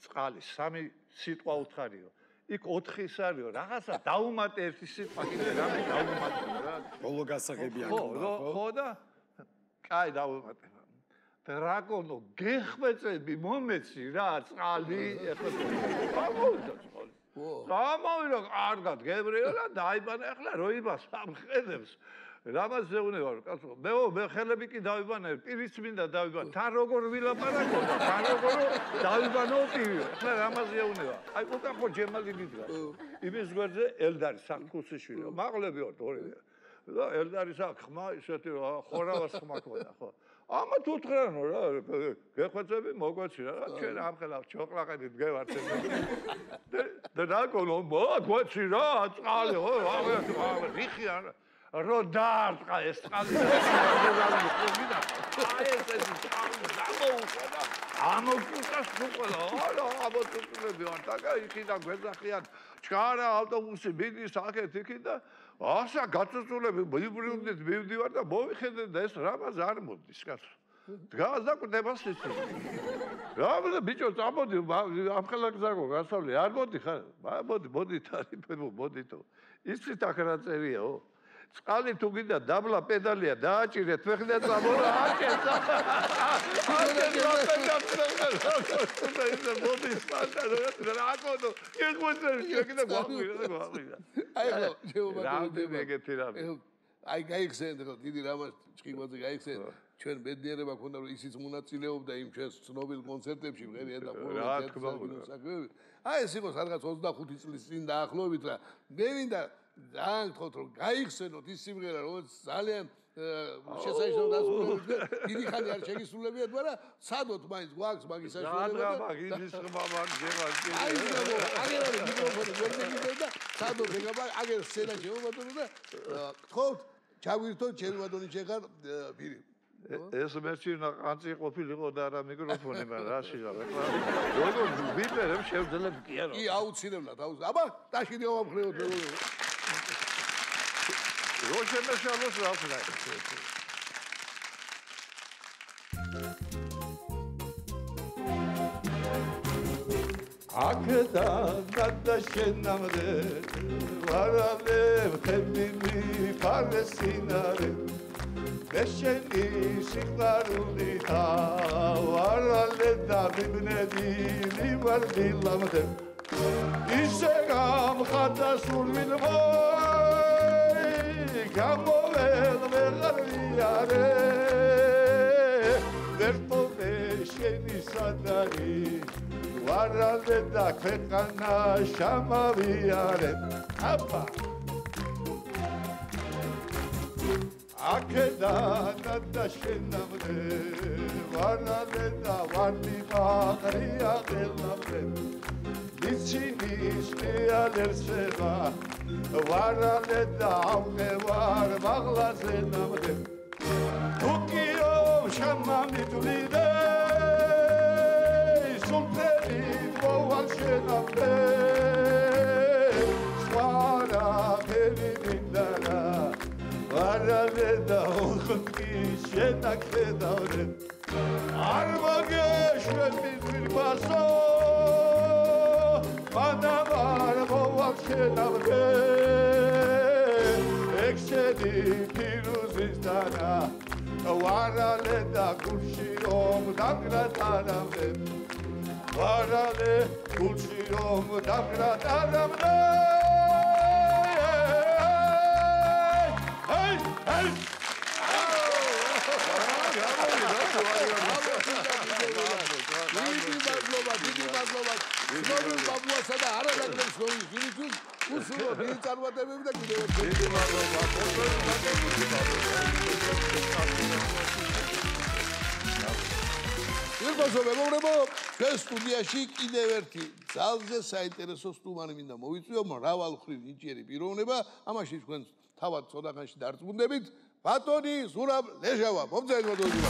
წყალი სამი სიტყვა უთხარიო იქ 4 ის არისო რაღაცა დაუმატე ერთი სიტყვა კიდე რამე დაუმატე რა ბოლო გასაღები აქ ხო და კაი დაუმატე დრაკონო გეხმეწები მომეცი რა წყალი ეხლა გამოვიდა წყალი გამოვიდა კარგად გებრიელა დაიბანა ახლა როიბა სამხედრებს რამაც ზეუნება კაცო მე ხელები კი დავიბანე პირიც მინდა დავიბანე თან როგორ ვილაპარაკო და თან როგორ დავიბანო პირი ახლა რამაც ზეუნება აი უკან ხო ჯემალი მიდრა იმის გვერდზე ელდარი საკუსიშვილი მაყლები ვარ ორივე და ელდარის აქ ხმა ისეთი ხორავას ხმა ქონდა ხო ამა თუ თხრანო რა გეხვეწები მოგვეცი რა ჩვენ ამხელა ჩოკლაყედით გევართ და დაკონო მოგვეცი რა წყალი ხო რიხი არა რო დაარტყა ეს წყალი აი ეს გამოუყოდა ამოკუტას უყოლა არა ამოტუკლები ვარ და იქიდან გვეძახიან ჩქარა ავტობუსი მიდის აქეთ იქით და ასა გაწუწულები მიბრუნდით მივდივარ და მოვიხედეთ და ეს რამაც არ მოდის კაცო დგას და კვდება სიცი რა ბიჭო წამოდი ამხელა გზაგო გასავლე არ მოდი ხარ მოდი თარიფებო მოდითო იცით აქ რა წერიაო წყალი თუ გინდა დაბლა პედალია დააჭირეთ ვეხლა წამოლა აკეთა აი გაიხსენეთ რომ დიდი რამას ჭკიბაძე გაიხსენეთ ჩვენ ბედნიერება ქონდა რომ ისიც მონაწილეობდა იმ ჩვენს ცნობილ კონცერტებში მღერია და ფორუმებში აი ეს იყო სადღაც 25 წლის წინ დაახლოებით რა მე მინდა ძალიან გთხოვთ რომ გაიხსენოთ ის სიმღერა რომელიც ძალიან შესაძლოა დასრულებით დიდი ხანი არ შეგისრულებიათ მაგრამ სადოთ მაინც გვაქვს მაგის საშუალება და მაგის ხმამა გევაში აი აგერ არის მიკროფონი გვერდზე და სადოთ ეგაბა აგერ სცენა შემოვატო და გთხოვთ ჩაგვირთოთ ჩემი ბატონი შეხარ პირი ეს მერჩინა ყანწი ყოფილიყო და არა მიკროფონი მაგრამ რა შეიძლება ეხლა როგორ ვიპერებ შევძლებ კი არა კი აუცილებლად აბა დაშიდი ავამხრეოთ რო შემეშალოს რა ვქნა აქედან დაშენამდე ვარალე ხები მიფარესინარე მეშენი სიყვარული თავარალე და მიბნები ლივარდილამდე ისე გამხატა სურვილმო გამოველ ვეღარიარე ვერტოვე შენი სადარი ვარალე და ქვეყანა შამავიარე აბა აქედან დაშენამდე ვარალე და ვარდი ყარია ყელამდე მიცინის მეალერსება ვარალე და ავღევარ მაღლაზე ნამდე თუკიო შამამიტვლიდე სულთები მოვალ შენამდე სხვარა ფერი მინდარა ვარალე და ოხტი შენაკხედავდე არ მოგეშვები ძვირფასო მანავარ მოვალ შენამდე ექსედი ფირუზის დანა ვარალე და გულში რომ დაგრატანამდე ვარალე გულში რომ დაგრატანამდე დიდი მადლობა ცნობილ ბაბუასა და არანაკლებ ცნობილ უსულო დიდი წარმატებები და კიდევ ერთხელ დიდი მადლობა ირგოზო მეგობრებო ჩვენ სტუდიაში კიდევ ერთი ძალზე საინტერესო სტუმარი მინდა მოვიწვიო მრავალმხრივ ნიჭიერი პიროვნება ამაში თქვენ თავად ცოტახანში დარწმუნდებით ბატონი ზურაბ ლეჟავა მომწევი ბატონი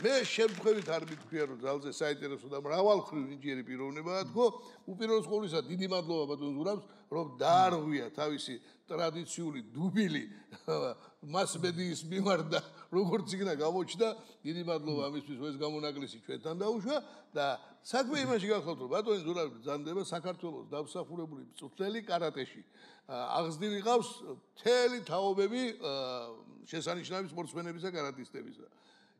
მე შემთხვევით არ მithქვია რომ ძალზე საინტერესო და მრავალმხრივ ნიჭიერი პიროვნებაა თქო უპირველეს ყოვლისა დიდი მადლობა ბატონ ზურაბს რომ დაარღვია თავისი ტრადიციული დუბილი მასმედიის მიმართ და როგორც იქნა გამოჩნდა დიდი მადლობა ამისთვის რომ ეს გამონაკლისი ჩვენთან დაუშვა და საქმე იმაში გახლავთ რომ ბატონი ზურაბი ბრძანდება საქართველოს დამსახურებული მწვრთნელი კარატეში აღზრდილი ყავს მთელი თაობები შესანიშნავი სპორტსმენებისა კარატისტებისა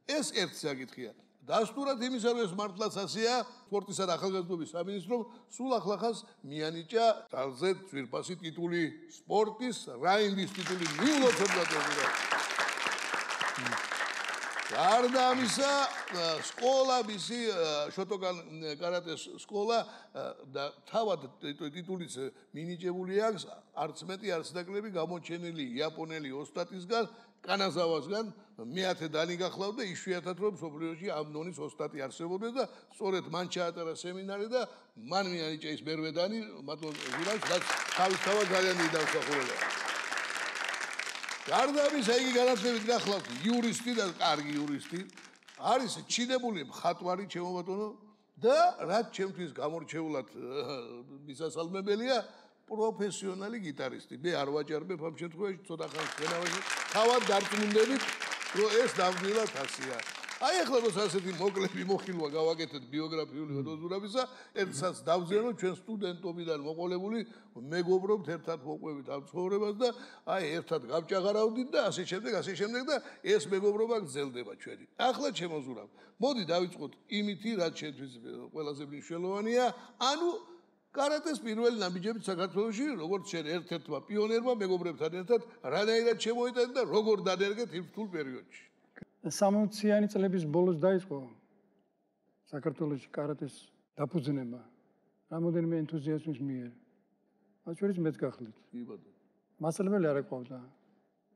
ეს ერთ საკითხია. დასტურად იმისა, რომ ეს მართლაც ასეა, სპორტისა და ახალგაზრდობის სამინისტრომ სულ ახლახანს მიანიჭა ძალზე ძვირფასი ტიტული სპორტის რაინდის ტიტული მიულოცებლად. გარდა ამისა, სკოლა მისი შოტოგან კარატეს სკოლა და თავად ტიტულიც მინიჭებული აქვს არც მეტი არც ნაკლები გამოჩენილი იაპონელი ოსტატისგან კანაზავასგან მეათე დანი გახლავდა იშვიათად რომ სოფლიოში ამ ნონის ოსტატი არსებობდა და სწორედ მან ჩაატარა სემინარი და მან მიანიჭა ის მერვე დანი მათონ ზურავს რაც თავისთავად ძალიან დიდი დამსახურებაა. გარდა ამისა იგი განათლებით გახლავთ იურისტი და კარგი იურისტი არის ჩინებული მხატვარი ჩემო ბატონო და რაც ჩემთვის გამორჩეულად მისასალმებელია პროფესიონალი გიტარისტი. მე არ ვაჭარბებ ამ შემთხვევაში ცოტა ხანს ვენავაში თავად დარწმუნდებით რომ ეს ნამდვილად ასეა. აი ახლა რომ ასეთი მოკლები მოხილვა გავაკეთეთ ბიოგრაფიული ოდოზურაბისა, ერთსაც დავზენო ჩვენ სტუდენტობიდან მოყოლებული მეგობრობთ ერთად მოყვებით ამ ცხოვრებას და აი ერთად გავჭაღარავდით და ასე შემდეგ და ეს მეგობრობა გრძელდება ჩვენი. ახლა შემოზურავ. მოდი დავიწყოთ იმითი, რაც ჩვენთვის ყველაზე მნიშვნელოვანია, ანუ კარატეს პირველი ნაბიჯებით საქართველოში, როგორც შენ ერთ-ერთმა პიონერმა მეგობრებთან ერთად, რანაირად შემოიტანეთ და როგორ დანერგეთ იმ რთულ პერიოდში. 60-იანი წლების ბოლოს დაიწყო საქართველოში კარატეს დაფუძნება რამოდენიმე ენთუზიასტის მიერ. მათ შორის მეც გახლით. მასწავლებელი არ ეყავდა.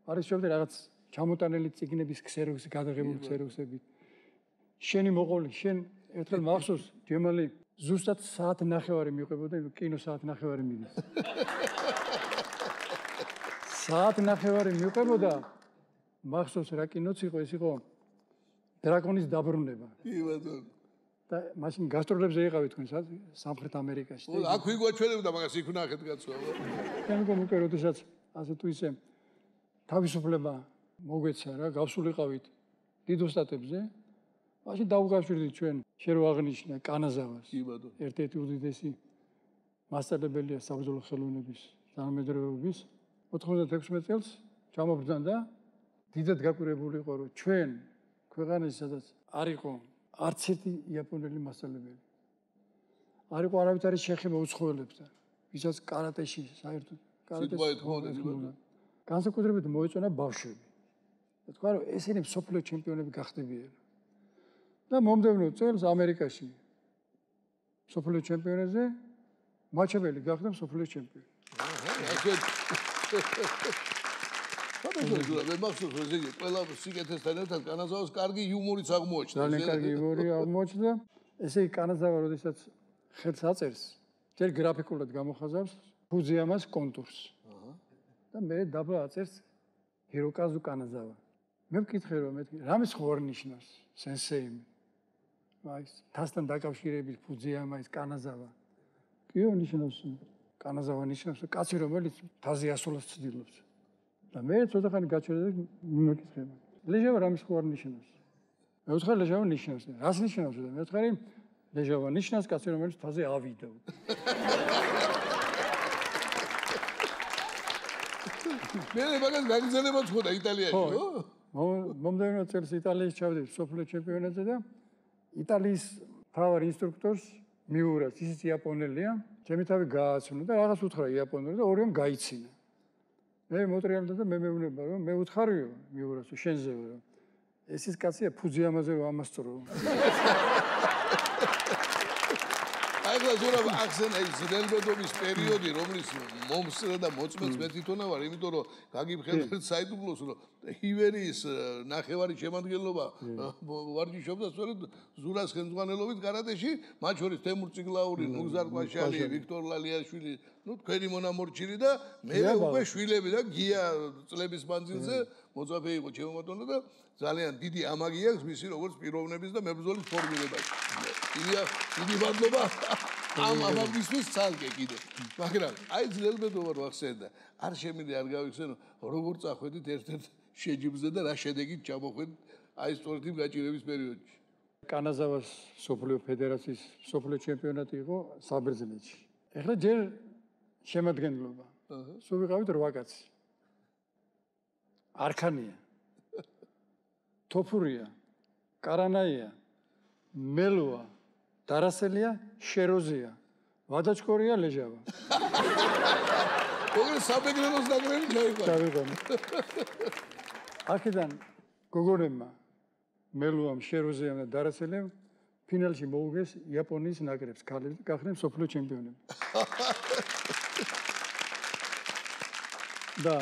არის შევდე რაღაც ჩამოტანილი წიგნების ქსეროქსი, გადაღებული ქსეროქსები. შენი მოყოლი, შენ ერთხელ მახსოვს, ჯემალი ზუსტად საათნახევარი მიყვებოდა, კინო საათნახევარი მიდის. საათნახევარი მიყვებოდა მახსოვს რა კინოც იყო, ეს იყო დრაკონის დაბრუნება. კი ბატონო. და მაშინ გასტროლებზე იყავით თქვენ სამხრეთ ამერიკაში. აქ ვიგვაჩვენებდა მაგას იქ ვნახეთ კაცო. მე მგონი როდესაც ასე თუ ისე თავისუფლება მოგვეცა რა, გავსულიყავით დიდ ოსტატებზე. მაშინ დაუგავშვილდით ჩვენ შენ რო აღნიშნა კანაზავას. კი ბატონო. ერთ-ერთი უდიდესი მასწავლებელია საბრძოლო ხელოვნების თანამედროვეობის 96 წელს ჩამობრძანდა დიდად გაკვირვებული იყო რომ ჩვენ ქვეყანაში სადაც არ იყო არც ერთი იაპონელი მასწავლებელი. არ იყო არავითარი შეხება უცხოელებთან, ვისაც კარატეში საერთოდ კარატეს განსაკუთრებით მოეწონა ბავშვები. და თქვა რომ ესენი მსოფლიო ჩემპიონები გახდებიან. და მომდევნო წელს ამერიკაში მსოფლიო ჩემპიონატზე მაჩაბელი გახდა მსოფლიო ჩემპიონი. მე მახსოვს რომ ესე ყველა სიკეთესთან ერთად კანაზავას კარგი იუმორიც აღმოაჩნდა. ძალიან კარგი იუმორი აღმოაჩნდა. ესე იგი კანაზავა როდესაც ხელს აწერს, ჯერ გრაფიკულად გამოხაზავს ფუძიამას კონტურს. და მე დაბლა აწერს ჰიროკაზუ კანაზავა. მე ვკითხე რომ მეთქი, რამის ხوار ნიშნავს სენსეიმ? აი, თასთან დაკავშირებით ფუძიამა ის კანაზავა. კიო ნიშნავს? კანაზავა ნიშნავს კაცი რომელიც თაზე ასულას ცდილობს. და მე ცოტა ხანი გაჩერდა და მიმეკითხე. ლეჟავა რამის ხوار ნიშნავს? მე ვთხარ ლეჟავა ნიშნავს. რას ნიშნავს? და მე ვთხარი ლეჟავა ნიშნავს კაცი რომელიც თაზე ავიდა. მე მაგას გაგზავნებაც ხოდა იტალიაში, ხო? მომდევნო წელს იტალიაში ჩავდივარ სოფლიო ჩემპიონატზე და იტალიის მთავარ ინსტრუქტორს მიურას, ისიც იაპონელია, ჩემი თავი გააცნო და რაღაც უთხრა იაპონური და ორიომ გაიცინა. მე მოტრიალდა და მე მეუბნება რომ მე უთხარიო მიურას შენზეო რომ ეს ის კაცია ფუძიამაზე რომ ამასწრო. აი გაზურა ახსენა ის ძნელბედობის პერიოდი რომლის მომსწრე და მოწმეც მე თვითონა ვარ, იმიტომ რომ გაგიფხელეთ საიდუმლოს რომ ივერიის ნახევარი შემადგენლობა ვარჯიშობდა სწორედ ზურას ხელმძღვანელობით კარატეში, მათ შორის თემურ წიგლაური, ნუგზარ კვაშალი, ვიქტორ ლალიაშვილი, ну თქვენი მონამორჩილი და მე უკვე შვილები და გია წლების მანძილზე მოწაფე იყო ჩემო ბატონო და ძალიან დიდი ამაგი აქვს მისი როგორც პიროვნების და მებრძოლის ფორმირებაში. დიდი მადლობა ამ ამაგისთვის ცალკე კიდე. მაგრამ აი ძნელბედობა რო ახსენდა, არ შემიძლია არ გავიხსენო, როგორ წახვედით ერთ-ერთ შეჯიბზე და რა შედეგით ჩამოხვედით აი სწორედ იმ გაჭირების პერიოდში. კანაზავას სოფლიო ფედერაციის სოფლიო ჩემპიონატი იყო საბერძნეთში. ეხლა ჯერ შემადგენლობა. სულ ვიყავით 8 კაცი. არქანია. თოფურია, კარანაია, მელოა, დარასელია, შეროზია, ვადაჩქორია, ლეჟავა. ოღონდ საბეგრელოს ნაკრები ჩავიყვანე. აქედან გოგონებმა მელოამ, შეროზიამ და დარასელემ ფინალში მოუგეს იაპონიის ნაკრებს, ქალები გახდნენ მსოფლიო ჩემპიონები. და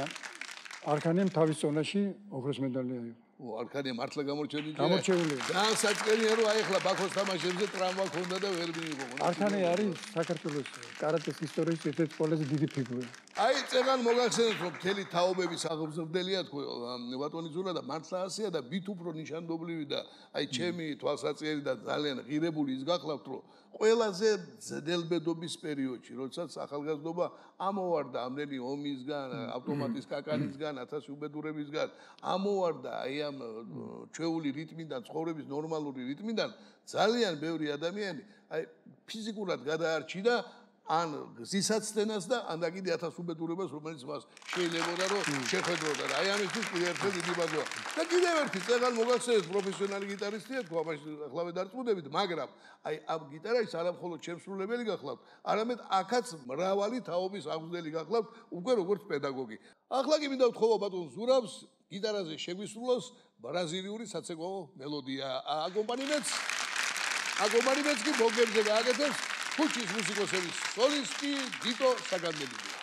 არქანიამ თავის ზონაში ოქროს მედალი აიღო. არქანია მართლა გამორჩენილია. გამორჩეულია. ძალიან საჭიროა რომ აი ახლა ბაქოს თამაშებზე ტრამვა ქონდა და ვერ მიიღო. არქანია არის საქართველოს კარატეს ისტორიის ერთ-ერთი ყველაზე დიდი ფიგურა. აი წეგან მოგახსენეთ რომ მთელი თაობების აღმზრდელია თქო ბატონი ზურა და მართლა ასეა და ვით უფრო ნიშანდობლივი და აი ჩემი თვალსაჩინო და ძალიან ღირებული ის გახლავთ რომ ყველაზე ძნელბედობის პერიოდში როდესაც ახალგაზრდობა ამოვარდა ამდენი ომისგან ავტომატის კაკანისგან 1000 უბედურებისგან ამოვარდა აი ამ ჩვეული რიტმიდან ცხოვრების ნორმალური რიტმიდან ძალიან ბევრი ადამიანი აი ფიზიკურად გადაარჩინა ან გზისაცდენას და ან კიდე 1000 უბედურებას რომელიც მას შეიძლებოდა რომ შეხედოდა და აი ამისთვის კიდე ერთხელ დიდი ბაზოა და კიდევ ერთი წეგან მოგახსენეთ პროფესიონალი გიტარისტია თქვა მაშინ ახლავე დარწმუნდებით მაგრამ აი ამ გიტარაში არა მხოლოდ შემსრულებელი გახლავთ არამედ აქაც მრავალი თაობის აღმზრდელი გახლავთ უკვე როგორც პედაგოგი ახლა კი მინდა ვთხოვო ბატონ ზურაბს გიტარაზე შეგვისრულოს ბრაზილიური საცეკვაო მელოდია აკომპანიმენტს კი ბოგებზე გააკეთებს ხუჩის მუსიკოსების სოლისტი გიტო საგანდელია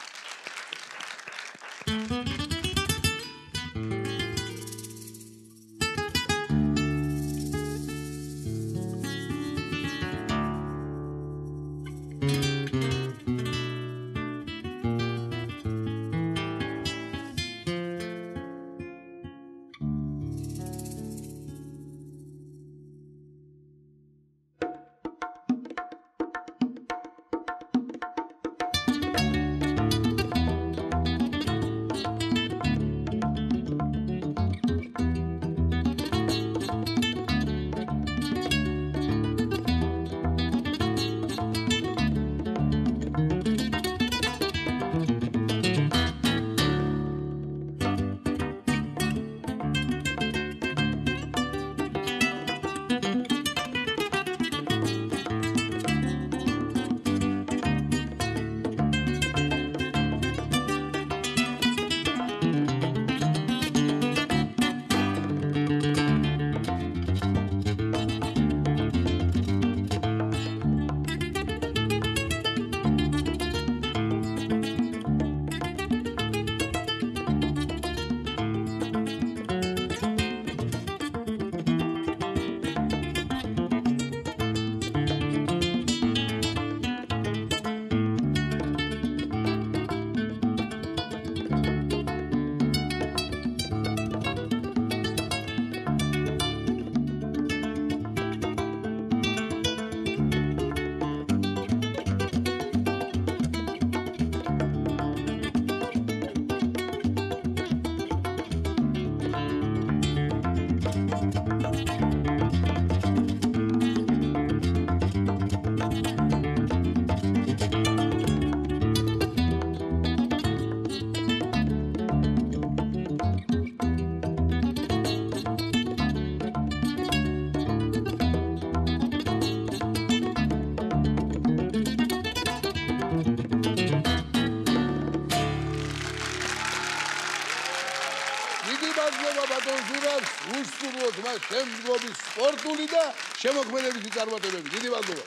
უსურვოთ მას შემდგომი სპორტული და შემოქმედებითი წარმატებები. დიდი მადლობა.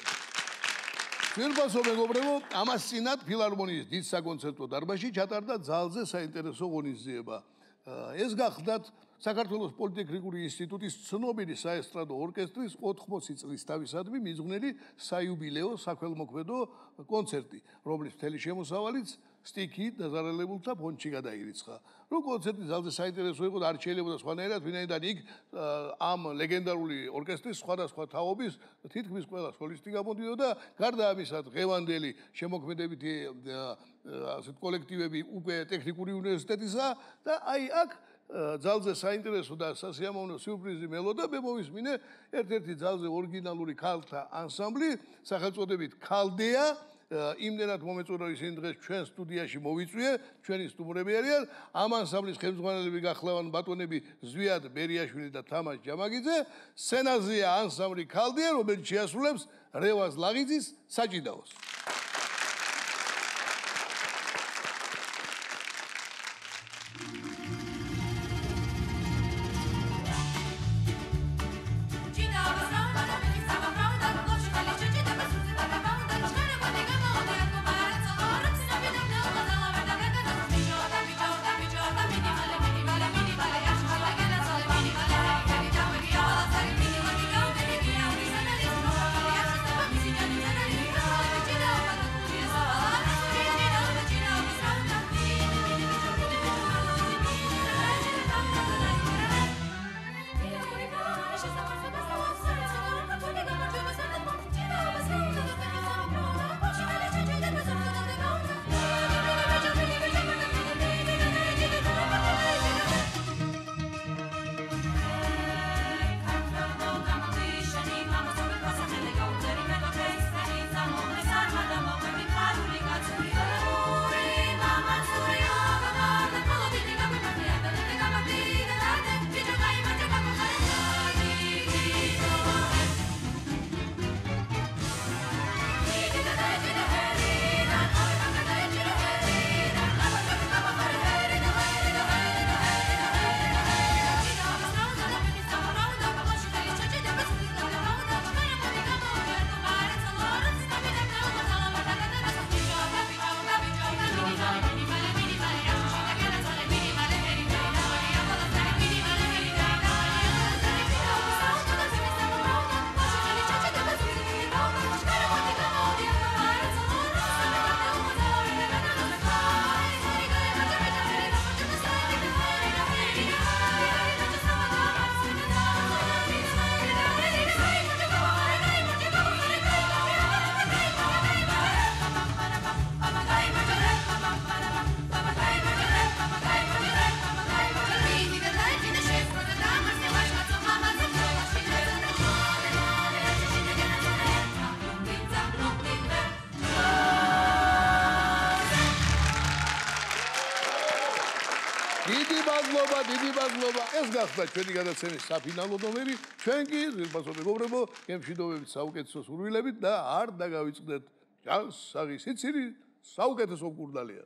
Firpaso მეგობრებო, ამას წინათ ფილარმონიის დიდ საკონცერტო დარბაზში ჩატარდა ძალზე საინტერესო ღონისძიება. ეს გახლდათ საქართველოს პოლიტექნიკური ინსტიტუტის ცნობილი საესტრადო ორკესტრის 80 წლის თავისადმი მიძღვნილი საიუბილეო საქველმოქმედო კონცერტი, რომლის მთელი შემოსავალიც სტიქით დაზარალებულთა ფონდში გადაირიცხა. რომ კონცერტი ძალზე საინტერესო იყო და არ შეიძლება სხვანაირად, ვინაიდან იქ ამ ლეგენდარული ორკესტრის სხვადასხვა თაობის თითქმის ყველა სოლისტი გამოდიოდა, გარდა ამისა დღევანდელი შემოქმედებითი ასეთ კოლექტივები უკვე ტექნიკური უნივერსიტეტისა და აი აქ ძალზე საინტერესო და სასიამოვნო სიურპრიზი მელოდა მე მოვისმინე ერთ-ერთი ძალზე ორიგინალური ქალთა ანსამბლი სახელწოდებით ქალდეა იმდენად მომეწონა ისინი დღეს ჩვენ სტუდიაში მოვიწვიე, ჩვენი სტუმრები არიან. ამ ანსამბლის ხელმძღვანელები გახლავან ბატონები ზვიად ბერიაშვილი და თამაშ ჯამაგიძე. სცენაზეა ანსამბლი ქალდია, რომელიც შეასრულებს რევაზ ლაღიძის საჭიდაოს. დიდი მადლობა. ეს გახდა ჩვენი გადაცემის საფინალო ნომერი. ჩვენ კი ზრდასო მეგობრებო, გემშვიდობებით საუკეთესო სურვილებით და არ დაგავიწყდეთ ჯანსაღი სიცილი საუკეთესო მკურნალია.